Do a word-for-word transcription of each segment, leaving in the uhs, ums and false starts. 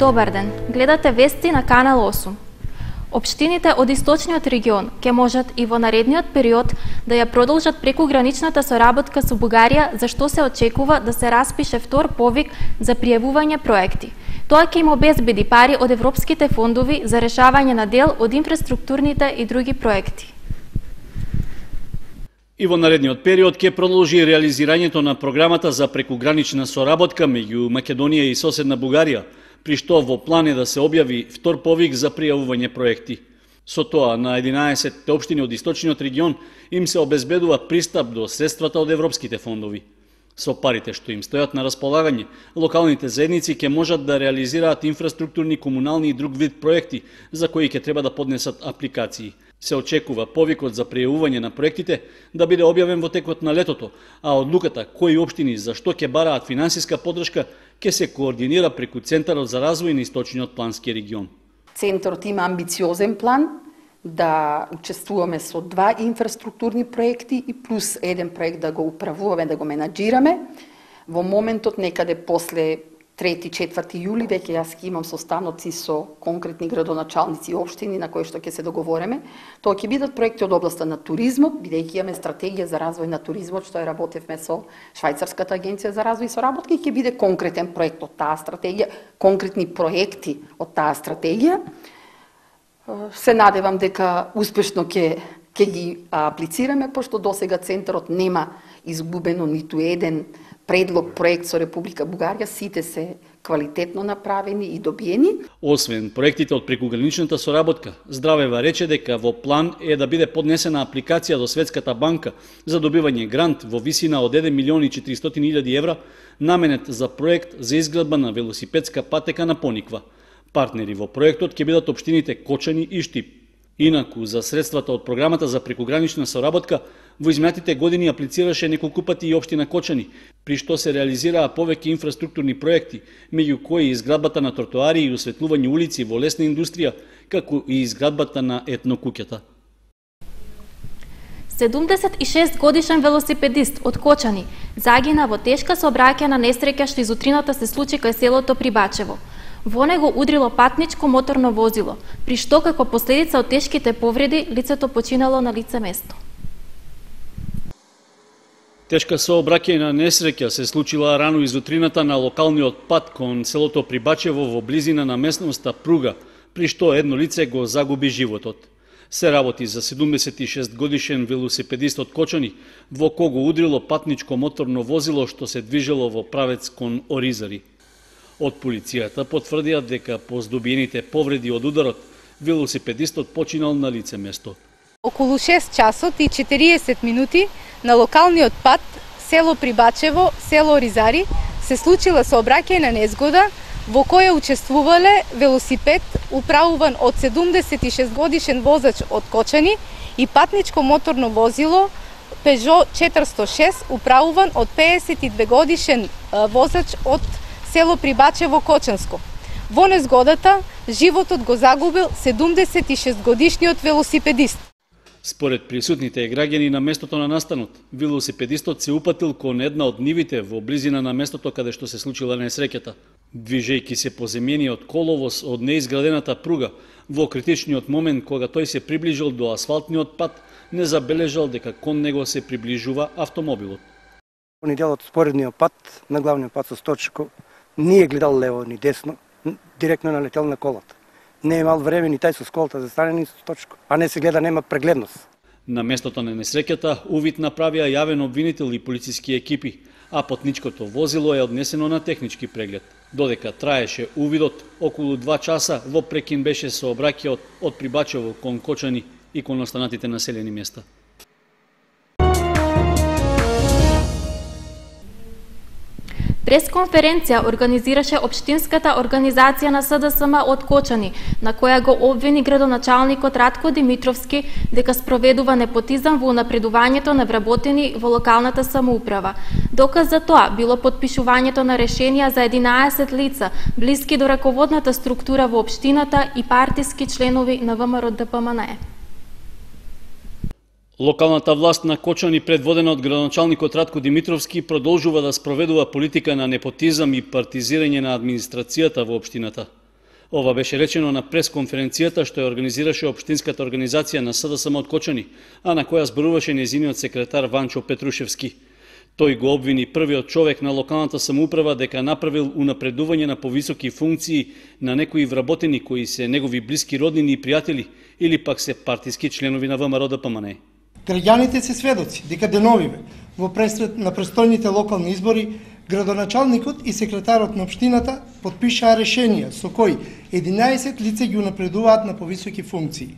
Добар ден, гледате вести на Канал осум. Општините од источниот регион ќе можат и во наредниот период да ја продолжат прекуграничната соработка со Бугарија, за што се очекува да се распише втор повик за пријавување проекти. Тоа ќе им обезбеди пари од европските фондови за решавање на дел од инфраструктурните и други проекти. И во наредниот период ќе продолжи реализирањето на програмата за прекугранична соработка меѓу Македонија и соседна Бугарија, при што во план е да се објави втор повик за пријавување проекти. Со тоа на единаесет општини од источниот регион им се обезбедува пристап до средствата од европските фондови. Со парите што им стојат на располагање, локалните заедници ќе можат да реализираат инфраструктурни, комунални и друг вид проекти за кои ќе треба да поднесат апликации. Се очекува повикот за пријавување на проектите да биде објавен во текот на летото, а одлуката кои општини за што ќе бараат финансиска поддршка ќе се координира преку Центарот за развој на источниот плански регион. Центарот има амбициозен план да учествуваме со два инфраструктурни проекти и плюс еден проект да го управуваме, да го менаџираме. Во моментот некаде после трети-четврти јули веќе јас ќе имам состаноци со конкретни градоначалници и општини на кои што ќе се договореме. Тоа ќе бидат проекти од областа на туризмот, бидејќи имаме стратегија за развој на туризмот, што ја работевме со Швајцарската агенција за развој и соработка, и ќе биде конкретен проект од таа стратегија, конкретни проекти од таа стратегија. Се надевам дека успешно ќе ќе ги аплицираме, пошто досега Центарот нема изгубено ниту еден предлог проект со Република Бугарија, сите се квалитетно направени и добиени. Освен проектите од прекуграничната соработка, Здравева рече дека во план е да биде поднесена апликација до Светската банка за добивање грант во висина од еден милион и четиристотини илјади евра, наменет за проект за изградба на велосипедска патека на Пониква. Партнери во проектот ќе бидат општините Кочани и Штип. Инаку, за средствата од програмата за прекугранична соработка, во изминатите години аплицираше неколку пати и општина Кочани, при што се реализираа повеќе инфраструктурни проекти, меѓу кои изградбата на тротоари и осветлување улици во лесна индустрија, како и изградбата на етнокуќата. седумдесет и шест годишен велосипедист од Кочани загина во тешка сообраќајна несреќа што изутрината се случи кај селото Прибачево. Во него удрило патничко моторно возило, при што како последица од тешките повреди лицето починало на лице место. Тешка сообраќајна несреќа се случила рано изутрината на локалниот пат кон селото Прибачево во близина на местноста Пруга, при што едно лице го загуби животот. Се работи за седумдесет и шест годишен велосипедист од Кочани, во кого удрило патничко моторно возило што се движело во правец кон Оризари. Од полицијата потврдија дека по здобиените повреди од ударот, велосипедистот починал на лице место. Околу шест часот и четириесет минути на локалниот пат село Прибачево, село Оризари се случила сообраќајна незгода во која учествувале велосипед управуван од седумдесет и шест годишен возач од Кочани и патничко моторно возило Пежо четиристо и шест управуван од пеесет и две годишен возач од село Прибачево Кочанско. Во незгодата животот го загубил седумдесет и шест годишниот велосипедист. Според присутните граѓани на местото на настанот, велосипедистот се упатил кон една од нивите во близина на местото каде што се случила несреќата. Движејќи се по земјениот коловоз од неизградената пруга, во критичниот момент кога тој се приближил до асфалтниот пат, не забележал дека кон него се приближува автомобилот. Они делот споредниот пат на главниот пат со Сточко не е гледал лево ни десно, директно налетел на колата. Не е имал време ни тај со сколата да стане ни со Сточко, а не се гледа, нема прегледност. На местото на несреќата увид направија јавен обвинител и полициски екипи, а патничкото возило е однесено на технички преглед. Додека траеше увидот, околу два часа во прекин беше сообраќајот од Прибачево кон Кочани и кон останатите населени места. Пресконференција организираше Општинската организација на С Д С М од Кочани, на која го обвини градоначалникот Ратко Димитровски дека спроведува непотизам во унапредувањето на вработени во локалната самоуправа. Доказ за тоа било подпишувањето на решенија за единаесет лица, блиски до раководната структура во општината и партиски членови на В М Р Д П М Н Е. Локалната власт на Кочани, предводена од градоначалникот Ратко Димитровски, продолжува да спроведува политика на непотизам и партизирање на администрацијата во општината. Ова беше речено на пресконференцијата што ја организираше Општинската организација на СДСМ од Кочани, а на која зборуваше нејзиниот секретар Ванчо Петрушевски. Тој го обвини првиот човек на локалната самоуправа дека направил унапредување на повисоки функции на некои вработени кои се негови блиски роднини и пријатели или пак се партиски членови на ВМРО Д П М Н. Граѓаните се сведоци дека деновиве во пресред на престојните локални избори градоначалникот и секретарот на општината потпишаа решенија со кои единаесет лица ги унапредуваат на повисоки функции.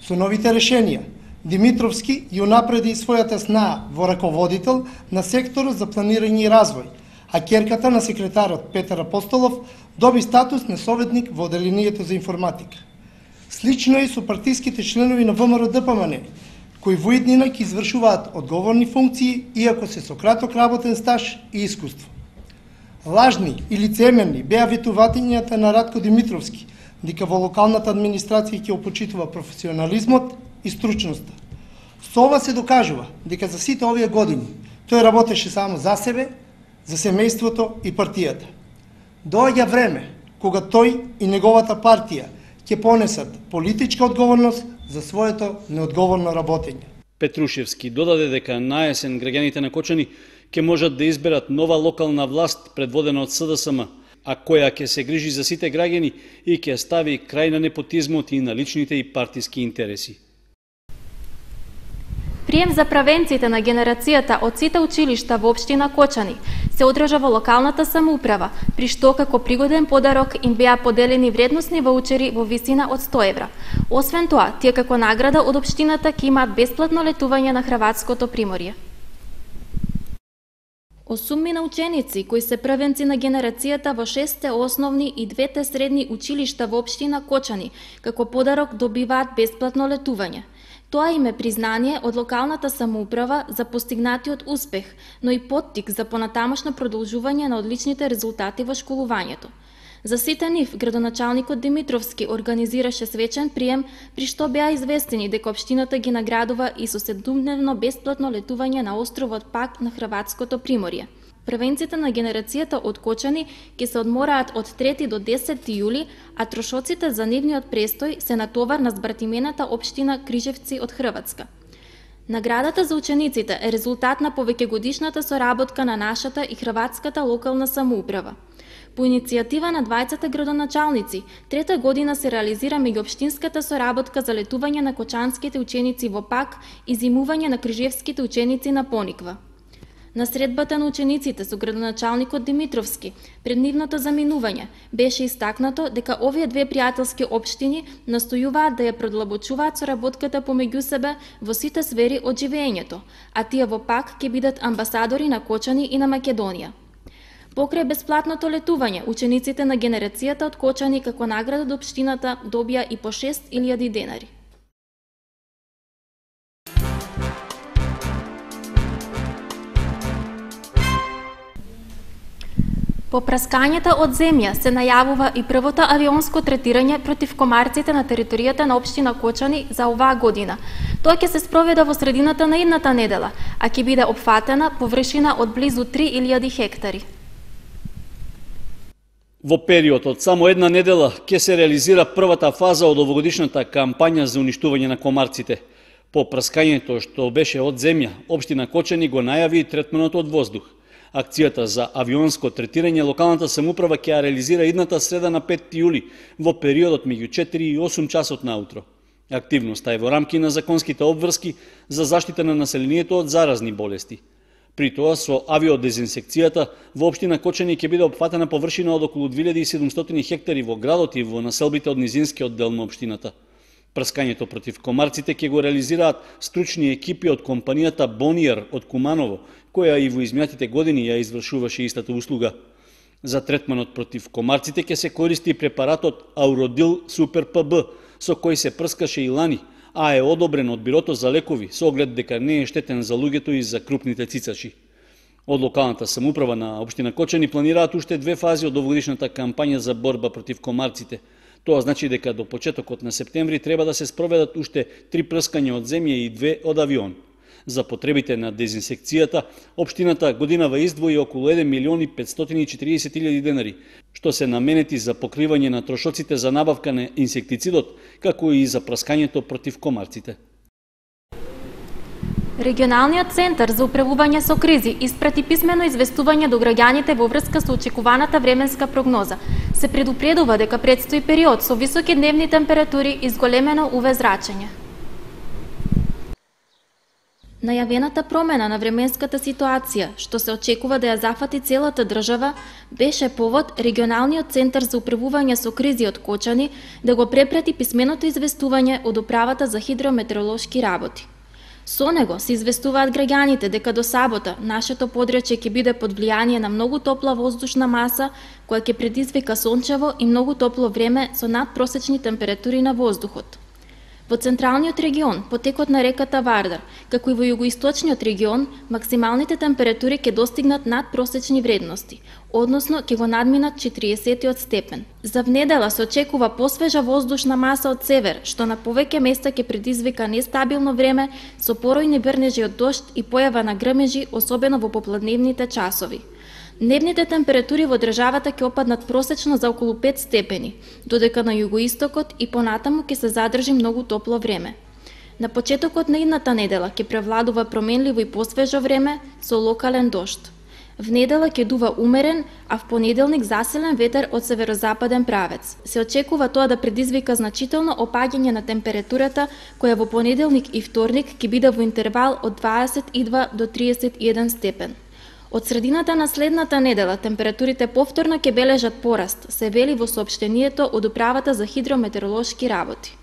Со новите решенија Димитровски ја унапреди својата снаа во раководител на секторот за планирање и развој, а ќерката на секретарот Петар Апостолов доби статус на советник во одделението за информатика. Слично е со партиските членови на ВМРО Д П М Н, кои во иднина ќе извршуваат одговорни функции, иако се со краток работен стаж и искуство. Лажни и лицемерни беа ветувањата на Радко Димитровски, дека во локалната администрација ќе опочитува професионализмот и стручноста. Со ова се докажува дека за сите овие години тој работеше само за себе, за семејството и партијата. Доаѓа време кога тој и неговата партија ќе понесат политичка одговорност за своето неодговорно работење. Петрушевски додаде дека наесен граѓаните на Кочани ќе можат да изберат нова локална власт предводена од С Д С М, а која ќе се грижи за сите граѓани и ќе стави крај на непотизмот и на личните и партиски интереси. Прием за правенците на генерацијата од сите училишта во општина Кочани се одржа во локалната самоуправа, при што како пригоден подарок им беа поделени вредносни ваучери во висина од сто евра. Освен тоа, тие како награда од општината ќе имаат бесплатно летување на Хрватското приморје. Осуммина ученици кои се првенци на генерацијата во шесте основни и двете средни училишта во општина Кочани, како подарок добиваат бесплатно летување. Тоа им е признание од локалната самоуправа за постигнатиот успех, но и поттик за понатамошно продолжување на одличните резултати во школувањето. За сите нив, градоначалникот Димитровски организираше свечен прием, при што беа известени дека општината ги наградува и со седумдневно бесплатно летување на островот Пак на Хрватското приморје. Првенците на генерацијата од Кочани ќе се одмораат од трети до десети јули, а трошоците за нивниот престој се натовар на збратимената општина Крижевци од Хрватска. Наградата за учениците е резултат на повеќегодишната соработка на нашата и хрватската локална самоуправа. По иницијатива на двајцата градоначалници, трета година се реализира меѓуопштинската соработка за летување на кочанските ученици во Пак и зимување на крижевските ученици на Пониква. На средбата на учениците со градоначалникот Димитровски пред нивното заминување беше истакнато дека овие две пријателски општини настојуваат да ја продлабочуваат соработката помеѓу себе во сите сфери од живеењето, а тие во Пак ќе бидат амбасадори на Кочани и на Македонија. Покрај бесплатното летување, учениците на генерацијата од Кочани како награда од општината добија и по шест илјади денари. По праскањата од земја се најавува и првото авионско третирање против комарците на територијата на општина Кочани за оваа година. Тоа ќе се спроведе во средината на идната недела, а ќе биде опфатена површина од близу три илјади хектари. Во период од само една недела ќе се реализира првата фаза од овогодишната кампања за уништување на комарците. По праскањето што беше од земја, општина Кочани го најави и третманот од воздух. Акцијата за авионско третирање локалната самоуправа ќе ја реализира идната среда на петти јули во периодот меѓу четири и осум часот наутро. Активноста е во рамки на законските обврски за заштита на населението од заразни болести. При тоа со авиодезинсекцијата во општина Кочани ќе биде опфатена површина од околу две илјади и седумстотини хектари во градот и во населбите од низинскиот дел на општината. Прскањето против комарците ќе го реализираат стручни екипи од компанијата Бониер од Куманово, која и во изминатите години ја извршуваше истата услуга. За третманот против комарците ќе се користи препаратот Ауродил Супер П Б, со кој се прскаше и лани, а е одобрен од Бирото за лекови со оглед дека не е штетен за луѓето и за крупните цицачи. Од локалната самоуправа на општина Кочани планираат уште две фази од овогодишната кампања за борба против комарците. Тоа значи дека до почетокот на септември треба да се спроведат уште три прскања од земја и две од авион. За потребите на дезинсекцијата, општината годинава издвои околу еден милион и петстотини и четириесет илјади денари, што се наменети за покривање на трошоците за набавка на инсектицидот, како и за праскањето против комарците. Регионалниот центар за управување со кризи испрати писмено известување до граѓаните во врска со очекуваната временска прогноза. Се предупредува дека предстои период со високи дневни температури и зголемено УВ зрачење. Најавената промена на временската ситуација, што се очекува да ја зафати целата држава, беше повод Регионалниот центар за управување со кризи од Кочани да го препрати писменото известување од Управата за хидрометеоролошки работи. Со него се известуваат граѓаните дека до сабота нашето подречје ќе биде под влијание на многу топла воздушна маса, која ќе предизвика сончево и многу топло време со надпросечни температури на воздухот. Во централниот регион, потекот на реката Вардар, како и во југоисточниот регион, максималните температури ќе достигнат надпросечни вредности, односно ќе го надминат четириесеттиот степен. За внедела се очекува посвежа воздушна маса од север, што на повеќе места ќе предизвика нестабилно време со поројни брнежи од дожд и појава на грмежи, особено во попладневните часови. Дневните температури во државата ќе опаднат просечно за околу пет степени, додека на југоистокот и понатаму ќе се задржи многу топло време. На почетокот на идната недела ќе превладува променливо и посвежо време со локален дожд. В недела ќе дува умерен, а в понеделник засилен ветер од северозападен правец. Се очекува тоа да предизвика значително опаѓање на температурата, која во понеделник и вторник ќе биде во интервал од дваесет и два до триесет и еден степен. Од средината на следната недела температурите повторно ќе бележат пораст, се вели во соопштението од Управата за хидрометеоролошки работи.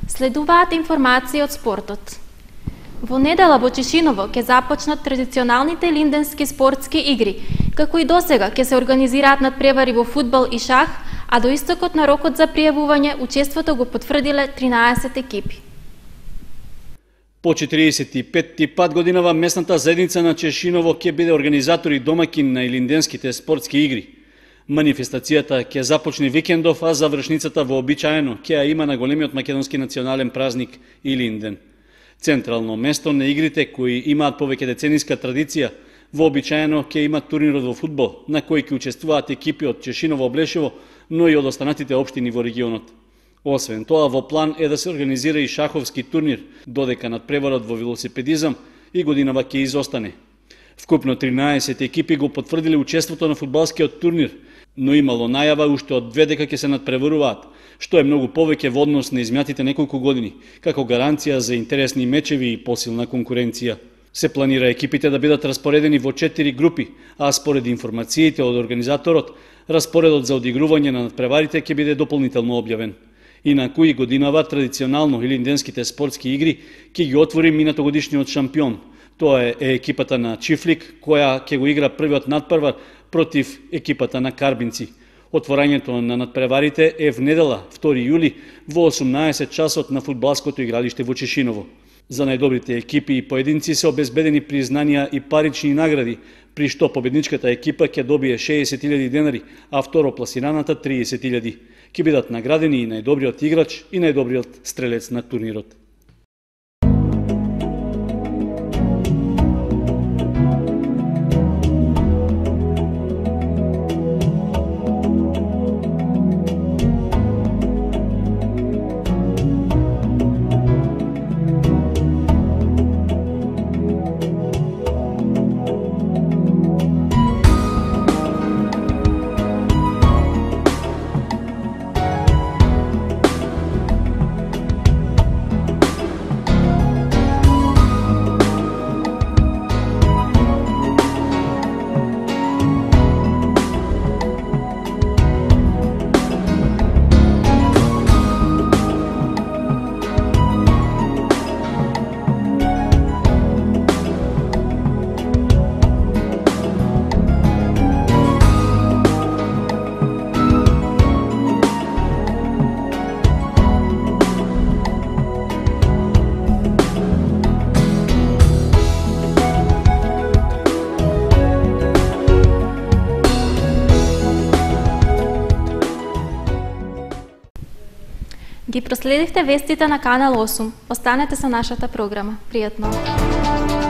Следуваат информации од спортот. Во недела во Чешиново ќе започнат традиционалните линденски спортски игри, како и досега ќе се организираат надпревари во фудбал и шах, а до истокот на рокот за пријавување учеството го потврдиле тринаесет екипи. По четириесет и петти пат годинава местната заедница на Чешиново ќе биде организатор и домакин на илинденските спортски игри. Манифестацијата ќе започне викендов, а завршницата вообичаено ќе ја има на големиот македонски национален празник Илинден. Централно место на игрите, кои имаат повеќе децениска традиција, вообичаено ќе има турнирот во фудбал, на кој ќе учествуваат екипи од Чешиново, Блешево, но и од останатите општини во регионот. Освен тоа, во план е да се организира и шаховски турнир, додека надпреварот во велосипедизам и годинава ќе изостане. Вкупно тринаесет екипи го потврдиле учеството на фудбалскиот турнир, но имало најава уште од две дека ќе се надпреваруваат, што е многу повеќе во однос на изминатите неколку години, како гаранција за интересни мечеви и посилна конкуренција. Се планира екипите да бидат распоредени во четири групи, а според информациите од организаторот, распоредот за одигрување на надпреварите ќе биде дополнително објавен. Инаку и годинава традиционално илинденските спортски игри ќе ги отвори минатогодишниот шампион. Тоа е екипата на Чифлик, која ќе го игра првиот надпревар против екипата на Карбинци. Отворањето на надпреварите е в недела, втори јули, во осумнаесет часот на фудбалското игралиште во Чешиново. За најдобрите екипи и поединци се обезбедени признанија и парични награди, при што победничката екипа ќе добие шеесет илјади денари, а второпласираната триесет илјади. Ќе бидат наградени и најдобриот играч и најдобриот стрелец на турнирот. Ги проследивте вестите на Канал осум. Останете со нашата програма. Пријатно!